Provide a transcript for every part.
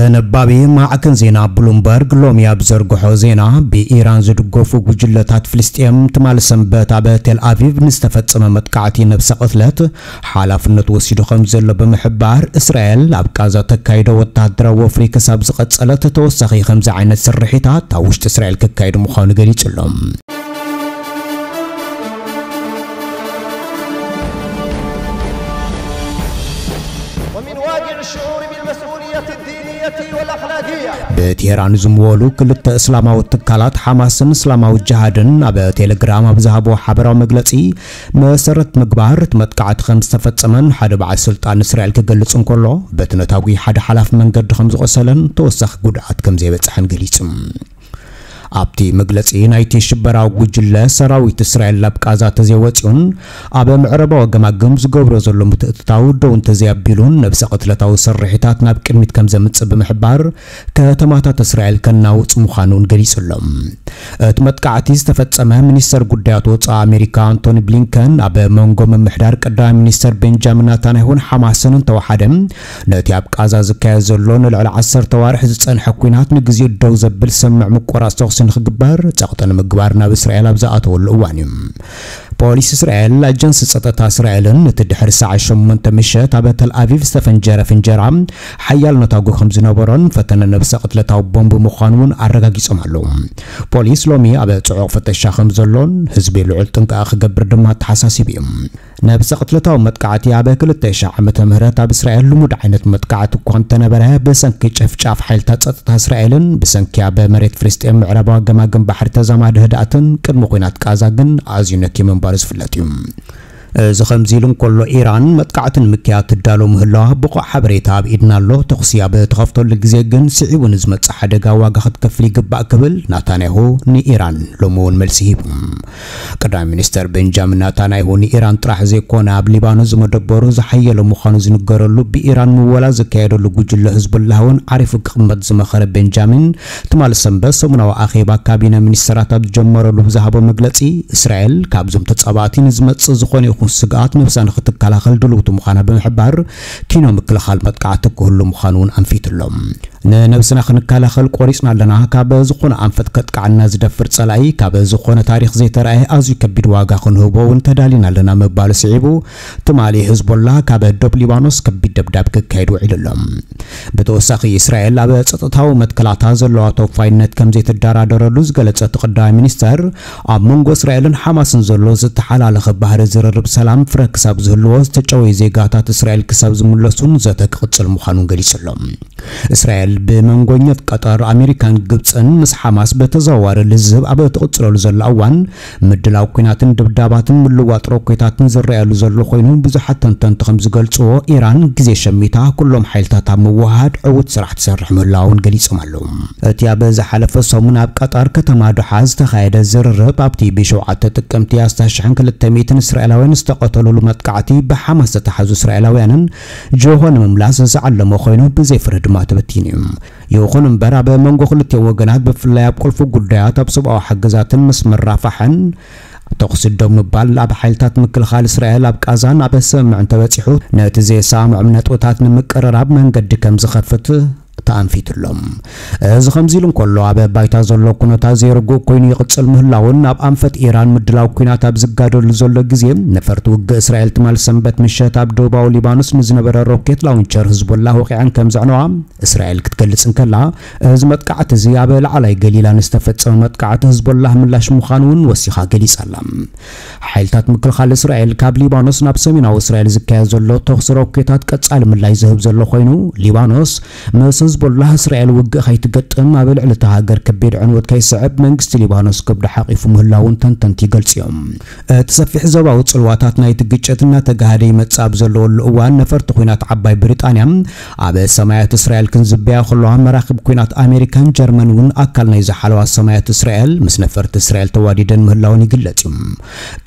ተነባቢ ማዕከን ዜና ብሉምበርግ ሎሚ ኣብ ዘርግሖ ዜና፣ ብኢራን ዝድገፉ ጉጅለታት ፍልስጤም ትማሊ ሰንበት ኣብ ቴል ኣቪቭ ንዝተፈጸመ መጥቃዕቲ ነብሰ ቅትለት ሓላፍነት ወሲዱ ከም ዘሎ ብምሕባር፣ እስራኤል ኣብ ቃዛ ተካይዶ ወተሃደራዊ ወፍሪ ክሳብ ዝቐጸለት ተወሳኺ ከምዚ ዓይነት ስርሒታት ኣብ ውሽጢ እስራኤል ክካየድ ምዃኑ ገሊጹ ኣሎ። ومن واقع الشعور بالمسؤولية الدينية والأخلاقية. ብቴህራን ዝምወሉ ክልተ እስላማዊ ትካላት ሓማስን እስላማዊ ጅሃድን ኣብ ቴሌግራም ኣብ ዝሃብዎ ሓበራዊ መግለጺ መሰረት ምግባር፣ እቲ መጥቃዕቲ ከም ዝተፈጸመን ሓደ በዓል ስልጣን እስራኤል ክገልጽ እንከሎ፣ በቲ ነታጒ ሓደ ሓላፊ መንገዲ ከም ዝቖሰለን ተወሳኺ ጉድኣት ከም ዘይበጽሐን ገሊጹ። ኣብቲ መግለጺ፣ ናይቲ ሽበራዊ ጉጅለ ሰራዊት እስራኤል ናብ ቃዛ ተዘይወጺኡን ኣብ ምዕራባዊ ገማግም ዝገብሮ ዘሎ ምትእትታው ደው እንተዘይኣቢሉን፣ ነብሰ ቅትለታዊ ስርሒታት ናብ ቅድሚት ከም ዘምጽእ ብምሕባር፣ ከተማታት እስራኤል ከናውጽ ምዃኑ እውን ገሊጹ ኣሎ። እቲ መጥቃዕቲ ዝተፈጸመ፣ ሚኒስተር ጉዳያት ወጻኢ ኣሜሪካ ኣንቶኒ ብሊንከን ኣብ መንጎ ምምሕዳር ቀዳማይ ሚኒስተር ቤንጃሚን ናታንያሁን ሓማስን እንተወሓደ፣ ነቲ ኣብ ቃዛ ዝካየድ ዘሎ ንልዕሊ ዓሰርተ ኣዋርሕ ዝጸንሐ ኲናት ንግዜኡ ደው ዘብል ስምምዕ ምቁራጽ ተኹሲ ንኽግበር ጸቕጢ ንምግባር ናብ እስራኤል ኣብ ዝኣተወሉ እዋን እዩ። ፖሊስ እስራኤል፣ ኣጀንሲ ጸጥታ እስራኤልን እቲ ድሕሪ ሰዓት ሸሞንተ ምሸት ኣብ ተል ኣቪቭ ዝተፈንጀረ ፍንጀራ ሓያል ነታጒ ከም ዝነበሮን ፈተነ ነብሰ ቅትለታዊ ቦምብ ምዃኑ እውን ኣረጋጊጾም ኣለዉ። ፖሊስ ሎሚ ኣብ ጽዑቕ ፍተሻ ከም ዘሎን ህዝቢ ልዑል ጥንቃቐ ክገብር ድማ ኣተሓሳሲቡ እዩ። ነብሰ ቅትለታዊ መጥቃዕቲ ኣብ ክልተ ሽሕ ዓመተ ምህረት ኣብ እስራኤል ልሙድ ዓይነት መጥቃዕቲ እኳ እንተነበረ፣ ብሰንኪ ጨፍጫፍ ሓይልታት ጸጥታ እስራኤልን ብሰንኪ ኣብ መሬት ፍልስጤም ምዕራባዊ ገማግም ባሕሪ ተዛማዲ ህድኣትን ቅድሚ ኲናት ቃዛ ግን ኣዝዩ ነኪ ምንባሩ ዝፍለጥ እዩ። እዚ ከምዚ ኢሉ እንከሎ፣ ኢራን መጥቃዕቲ ንምክያድ ትዳሎ ምህላዋ ብቑዕ ሓበሬታ ኣብ ኢድና ኣሎ፣ ተኹሲ ኣብ ትኸፍተሉ ግዜ ግን ስዒቡ ንዝመጽእ ሓደጋ ዋጋ ክትከፍል ይግባእ ክብል ናታንያሁ ንኢራን ሎሚ እውን መልሲ ሂቡ። ቀዳማይ ሚኒስተር ቤንጃሚን ናታንያሁ ንኢራን ጥራሕ ዘይኮነ ኣብ ሊባኖስ ዝመደበሩ ዝሓየለ ምዃኑ ዝንገረሉ ብኢራን ምወላ ዝካየደሉ ጉጅለ ህዝቡላህ እውን ዓሪፉ ክቕመጥ ዝመኸረ ቤንጃሚን፣ ትማሊ ሰንበት ሰሙናዊ ኣኼባ ካቢነ ሚኒስተራት ኣብ ዝጀመረሉ ብዝሃቦ መግለጺ፣ እስራኤል ካብዞም ተጻባእቲ ንዝመጽእ ዝኾነ ይኹን ስግኣት ነብሳ ንኽትከላኸል ድልውቲ ምዃና ብምሕባር፣ ኪኖ ምክልኻል መጥቃዕቲ ክህሉ ምዃኑ እውን ኣንፊቱ ኣሎ። ንነብስና ክንከላኸል ቆሪጽና ኣለና። ካብ ዝኾነ ኣንፈት ከጥቅዓና ዝደፍር ጸላኢ፣ ካብ ዝኾነ ታሪኽ ዘይተራእየ ኣዝዩ ከቢድ ዋጋ ክንህቦ እውን ተዳሊና ኣለና ምባሉ ስዒቡ፣ ትማሊ ህዝቦላ ካብ ዶብ ሊባኖስ ከቢድ ደብዳብ ክካየድ ውዒሉ ኣሎ። ብተወሳኺ፣ እስራኤል ኣብ ጸጥታዊ መትከላታ ዘለዋ ተወፋይነት ከም ዘይትደራደረሉ ዝገለጸ እቲ ቀዳማይ ሚኒስተር፣ ኣብ መንጎ እስራኤልን ሓማስን ዘሎ ዝተሓላለኸ ባህሪ ዝርርብ ሰላም ፍረ ክሳብ ዝህልዎ፣ ዝተጨወዩ ዜጋታት እስራኤል ክሳብ ዝምለሱን ዘተ ክቕጽል ምዃኑን ገሊጹ ኣሎ። እስራኤል ብመንጎኛት ቀጠር፣ ኣሜሪካን ግብጽን ምስ ሓማስ ብተዘዋዋሪ ልዝብ ኣብ እትቕጽለሉ ዘላ እዋን፣ ምድላው ኲናትን ድብዳባትን ምልዋጥ ሮኬታትን ዝረኣየሉ ዘሎ ኮይኑ፣ ብዙሓት ተንተንቲ ከም ዝገልጽዎ፣ ኢራን ግዜ ሸሚታ ኩሎም ሓይልታት ኣብ ምውሃድ ዕዉት ስራሕ ትሰርሕ ምህላዋ እውን ገሊጾም ኣለዉ። እቲ ኣብ ዝሓለፈ ሰሙን ኣብ ቀጠር ከተማ ዶሓ ዝተኻየደ ዝርርብ፣ ኣብቲ ብሸውዓተ ጥቅምቲ ኣስታት ሽሕን ክልተ ሚእትን እስራኤላውያን ዝተቐተሉሉ መጥቃዕቲ ብሓማስ ዝተታሕዙ እስራኤላውያንን ጆሆ ንምምላስ ዝዓለመ ኮይኑ፣ ብዘይ ፍረ ድማ ተበቲኑ እዩ። ይኹን እምበር፣ ኣብ መንጎ ክልቲኡ ወገናት፣ ብፍላይ ኣብ ቁልፊ ጉዳያት ኣብ ሰብኣዊ ሓገዛትን መስመር ራፋሕን፣ ተኹሲ ደው ምባል ኣብ ሓይልታት ምክልኻል እስራኤል ኣብ ቃዛን ኣብ ስምምዕ እንተበጺሑ፣ ነቲ ዘየሰማምዖም ነጥብታት ንምቅርራብ መንገዲ ከም ዝኸፍት ተኣንፊቱ ኣሎ። እዚ ከምዚ ኢሉ እንከሎ፣ ኣብ ባይታ ዘሎ ኩነታት ዘይርጉእ ኮይኑ ይቕጽል ምህላውን፣ ኣብ ኣንፈት ኢራን ምድላው ኲናት ኣብ ዝጋደሉ ዘሎ ግዜ፣ ነፈርቲ ውግእ እስራኤል ትማል ሰንበት ምሸት ኣብ ደቡባዊ ሊባኖስ ንዝነበረ ሮኬት ላውንቸር ህዝቦላ ወቒዐን ከም ዘዕነዋ እስራኤል ክትገልጽ እንከላ፣ እዚ መጥቃዕቲ እዚ ኣብ ላዕላይ ገሊላ ንዝተፈጸመ መጥቃዕቲ ህዝቦላህ ምላሽ ምዃኑ እውን ወሲኻ ገሊጻ ኣላ። ሓይልታት ምክልኻል እስራኤል ካብ ሊባኖስ ናብ ሰሜናዊ እስራኤል ዝካየድ ዘሎ ተኹሲ ሮኬታት ቀጻሊ ምላሽ ዝህብ ዘሎ ኮይኑ፣ ሊባኖስ ምስ ህዝቦላህ እስራኤል ውግእ ከይትገጥም ኣብ ልዕሊ እታ ሃገር ከቢድ ዕንወት ከይስዕብ መንግስቲ ሊባኖስ ከብዱ ሓቒፉ ምህላውን ተንተንቲ ይገልጹ እዮም። እቲ ሰፊሕ ዞባዊ ጽልዋታት ናይቲ ግጭት እናተጋሃደ ይመጽእ ኣብ ዘለወሉ እዋን፣ ነፈርቲ ኲናት ዓባይ ብሪጣንያ ኣብ ሰማያት እስራኤል ክንዝበያ ከለዋ፣ መራኽብ ኲናት ኣሜሪካን ጀርመን እውን ኣካል ናይ ዝሓለዋ ሰማያት እስራኤል ምስ ነፈርቲ እስራኤል ተዋዲደን ምህላወን ይግለጽ እዩ።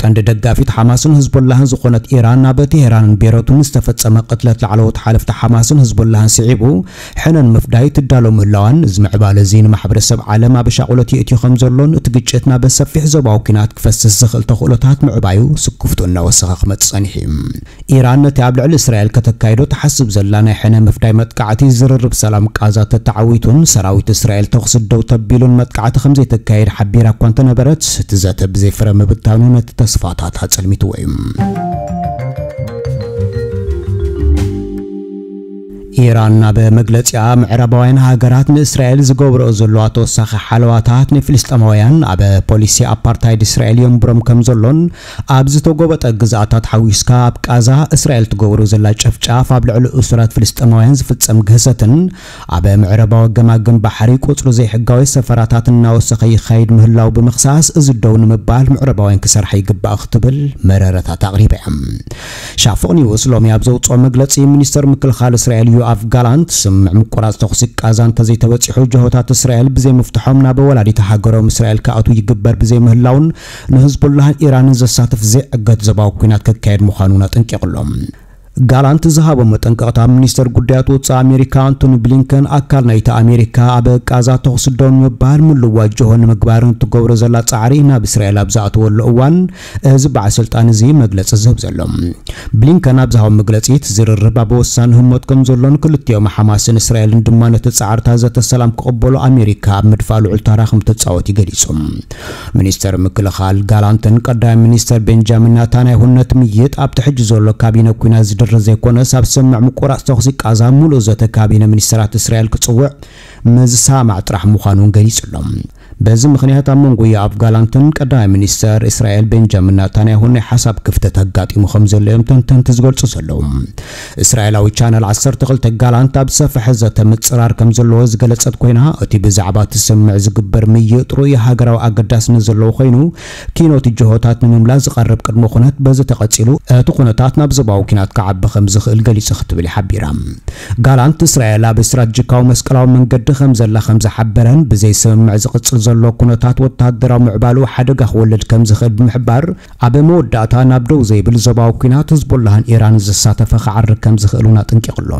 ቀንዲ ደጋፊት ሓማስን ህዝቦላህን ዝኾነት ኢራን፣ ኣብ ቴሄራንን ቤይሩትን ዝተፈጸመ ቅትለት ላዕለዎት ሓለፍቲ ሓማስን ህዝቦላህን ስዒቡ፣ ሕነን ምፍዳይ ትዳሎ ምህላዋን፣ እዚ ምዕባለ እዚ ንማሕበረሰብ ዓለም ኣብ ሻቕሎት የእትዮ ከም ዘሎን እቲ ግጭት ናብ ሰፊሕ ዞባዊ ኲናት ክፈስስ ዝኽእል ተኽእሎታት ምዕባዩ ስክፍቱ እናወሰኸ ክመጽእ ጸኒሑ እዩ። ኢራን ነቲ ኣብ ልዕሊ እስራኤል ከተካይዶ ትሓስብ ዘላ ናይ ሕነ ምፍዳይ መጥቃዕቲ ዝርርብ ሰላም ቃዛ ተተዓዊቱን ሰራዊት እስራኤል ተኹሲ ደው ተቢሉን መጥቃዕቲ ከም ዘይተካየድ ሓቢራ እኳ እንተነበረት፣ እቲ ዘተ ብዘይ ፍረ ምብታኑ ነቲ ተስፋታት ኣጸልሚትዎ እዩ። ኢራን ኣብ መግለጺኣ፣ ምዕራባውያን ሃገራት ንእስራኤል ዝገብርኦ ዘለዋ ተወሳኺ ሓለዋታት ንፍልስጤማውያን ኣብ ፖሊሲ ኣፓርታይድ እስራኤል የንብሮም ከም ዘሎን፣ ኣብ ዝተጎበጠ ግዝኣታት ሓዊስካ ኣብ ቃዛ እስራኤል ትገብሮ ዘላ ጨፍጫፍ፣ ኣብ ልዕሊ እሱራት ፍልስጤማውያን ዝፍጸም ግህሰትን ኣብ ምዕራባዊ ገማግም ባሕሪ ቁጽሪ ዘይሕጋዊ ሰፈራታት እናወሰኸ ይኻይድ ምህላው ብምኽሳስ፣ እዚ ደው ንምባል ምዕራባውያን ክሰርሓ ይግባእ ክትብል መረረታት ኣቕሪባ እያ። ሻፎቕ ኒውስ ሎሚ ኣብ ዘውፅኦ መግለፂ፣ ሚኒስተር ምክልኻል እስራኤል ዮኣፍ ጋላንት፣ ስምምዕ ምቁራፅ ተኹሲ ቃዛ እንተዘይተበፂሑ፣ ጅሆታት እስራኤል ብዘይምፍትሖም ናብ ወላዲት ሃገሮም እስራኤል ክኣትዉ ይግበር ብዘይምህላውን ንህዝቡላህን ኢራንን ዘሳትፍ ዘይዕገት ዞባዊ ኲናት ክካየድ ምዃኑ እውን ኣጠንቂቑ ኣሎ። ጋላንት ዝሃቦ መጠንቀቕታ፣ ሚኒስተር ጉዳያት ወጻኢ ኣሜሪካ ኣንቶኒ ብሊንከን፣ ኣካል ናይቲ ኣሜሪካ ኣብ ቃዛ ተኹሲ ደው ንምባል ምልዋጅ ጅሆ ንምግባርን እትገብሮ ዘላ ጻዕሪ ናብ እስራኤል ኣብ ዝኣተወሉ እዋን፣ እዚ በዓል ስልጣን እዚ መግለጺ ዝህብ ዘሎ። ብሊንከን ኣብ ዝሃቦ መግለጺ፣ እቲ ዝርርብ ኣብ ወሳኒ ህሞት ከም ዘሎን ክልቲኦም ሓማስን እስራኤልን ድማ ነቲ ጻዕርታት ዘተ ሰላም ክቕበሉ ኣሜሪካ ኣብ ምድፋእ ልዑል ታራ ከም ትጻወት እዩ ገሊጹ። ሚኒስተር ምክልኻል ጋላንትን ቀዳማይ ሚኒስተር ቤንጃሚን ናታንያሁን ነቲ ምይይጥ ኣብቲ ሕጂ ዘሎ ካቢነ ኲናት ዝድርዝ ዘይኮነስ፣ ኣብ ስምምዕ ምቁራጽ ተኹሲ ቃዛ ምሉእ ዘተ ካቢነ ሚኒስተራት እስራኤል ክጽውዕ ምዝሰማማዕ ጥራሕ ምዃኑ እውን ገሊጹ ኣሎ። በዚ ምኽንያት ኣብ መንጎ ዮኣፍ ጋላንትን ቀዳማይ ሚኒስተር እስራኤል ቤንጃሚን ናታንያሁን ናይ ሓሳብ ክፍተት ኣጋጢሙ ከም ዘሎ እዮም ተንተንቲ ዝገልጹ ዘለዉ። እስራኤላዊ ቻነል ዓሰርተ ክልተ ጋላንት ኣብ ዝሰፍሐ ዘተ ምጽራር ከም ዘለዎ ዝገለጸት ኮይና፣ እቲ ብዛዕባ እቲ ስምምዕ ዝግበር ምይይጥ ርኡይ ሃገራዊ ኣገዳስነት ዘለዎ ኮይኑ፣ ኪኖት ጅሆታት ንምምላስ ዝቐርብ ቅድመ ኩነት በዚ ተቐጺሉ፣ እቲ ኩነታት ናብ ዞባዊ ኲናት ክዓቢ ከም ዝኽእል ገሊጹ ክትብል ሓቢራ። ጋላንት እስራኤል ኣብ ስትራቴጂካዊ መስቀላዊ መንገዲ ከም ዘላ ከም ዝሓበረን፣ ብዘይ ስምምዕ ዝቕጽል ዘሎ ኩነታት ወተሃደራዊ ምዕባሉ ሓደጋ ክወልድ ከም ዝኽእል ብምሕባር፣ ኣብ መወዳእታ ናብ ደው ዘይብል ዞባዊ ኲናት ህዝቦላህን ኢራን ዘሳተፈ ክዓርግ ከም ዝኽእል እውን ኣጠንቂቑ ኣሎ።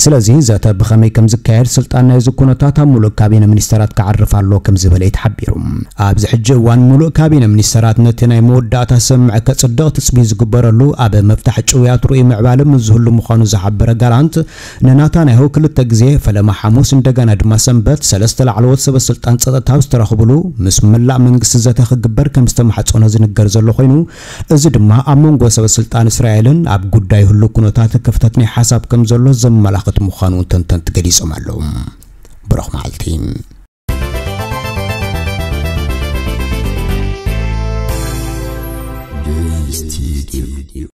ስለዚ ዘተ ብኸመይ ከም ዝካየድ ስልጣን ናይዚ ኩነታት ኣብ ሙሉእ ካቢነ ሚኒስተራት ክዓርፍ ኣለዎ ከም ዝበለ እዩ ተሓቢሩ። ኣብዚ ሕጂ እዋን ሙሉእ ካቢነ ሚኒስተራት ነቲ ናይ መወዳእታ ስምምዕ ከጽድቕ ትጽቢት ዝግበረሉ፣ ኣብ ምፍታሕ ጭውያት ርኡይ ምዕባለ ምስ ዝህሉ ምዃኑ ዝሓበረ ጋላንት፣ ንናታንያሁ ክልተ ግዜ፣ ፈለማ ሓሙስ እንደገና ድማ ሰንበት፣ ሰለስተ ላዕለዎት ሰበ ስልጣን ጸጥታ ዝተረኽብሉ፣ ምስ መላእ መንግስቲ ዘተ ክግበር ከም ዝተማሕጸኖ ዝንገር ዘሎ ኮይኑ፣ እዚ ድማ ኣብ መንጎ ሰበ ስልጣን እስራኤልን ኣብ ጉዳይ ህሉ ኩነታት ክፍተት ናይ ሓሳብ ከም ዘሎ ዘመላኽት ምዃኑ ተንተንቲ ገሊጾም ኣለዉ። ብሩኽ መዓልቲ።